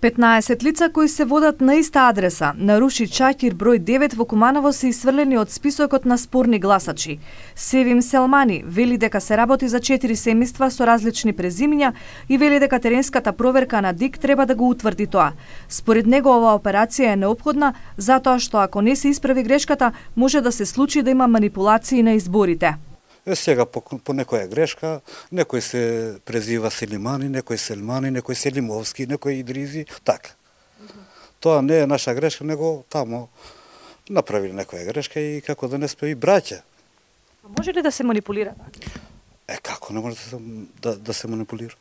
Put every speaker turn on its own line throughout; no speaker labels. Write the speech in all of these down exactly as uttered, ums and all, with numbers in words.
петнаесет лица кои се водат на иста адреса, наруши Чакир број девет во Куманово се исфрлени од списокот на спорни гласачи. Севим Селмани вели дека се работи за четири семејства со различни презимиња и вели дека теренската проверка на ДИК треба да го утврди тоа. Според него оваа операција е неопходна затоа што ако не се исправи грешката, може да се случи да има манипулации на изборите.
Е, сега по, по некоја грешка, некој се презива Селимани, некој Селмани, некој Селимовски, некој Идризи, така. Mm -hmm. Тоа не е наша грешка, него тамо направили некоја грешка и како да не сме и браќа.
А може ли да се манипулира?
Е, како не може да се, да, да се манипулира?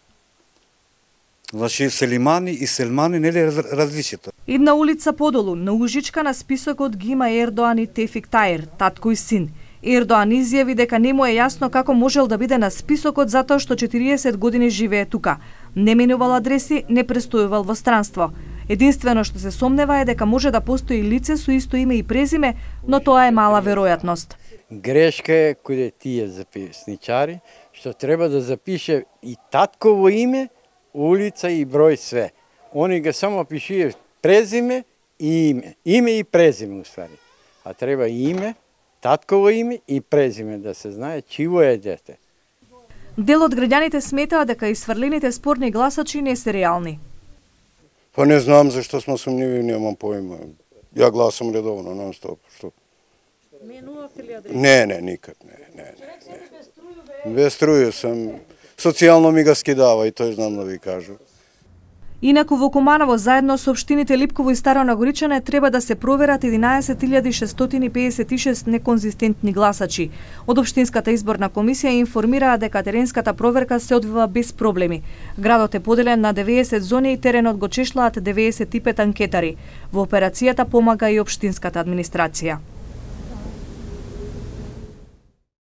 Значи, Селимани и Селмани не е различито.
Една улица подолу, на Ужичка на списокот ги има Ердоан и Тефик Тајер, татко и син. Ердоан изјави дека не му е јасно како можел да биде на списокот затоа што четириесет години живее тука. Не менувал адреси, не престојувал во странство. Единствено што се сомнева е дека може да постои лице со исто име и презиме, но тоа е мала веројатност.
Грешка е каде тие записничари, што треба да запише и татково име, улица и број све. Они го само пишие презиме и име. Име и презиме, уствари. А треба и име, татково име и презиме да се знае чиво е дете.
Дел од граѓаните сметаа дека исфрлените спорни гласачи не се реални.
Па не знам зашто сме сумниви, немам поима. Ја гласам редовно, нон-стоп. Што?
Менувавте ли адреса?
Не, не, никак, не, не, не. не. Без струја сам. Социјално ми го скидава и тој знам да ви кажу.
Инаку во Куманово заедно со општините Липково и Старо Нагоричане треба да се проверат единаесет илјади шестстотини пеесет и шест неконзистентни гласачи. Од општинската изборна комисија информираа дека теренската проверка се одвива без проблеми. Градот е поделен на деветдесет зони и теренот го чешлаат деветдесет и пет анкетари. Во операцијата помага и општинската администрација.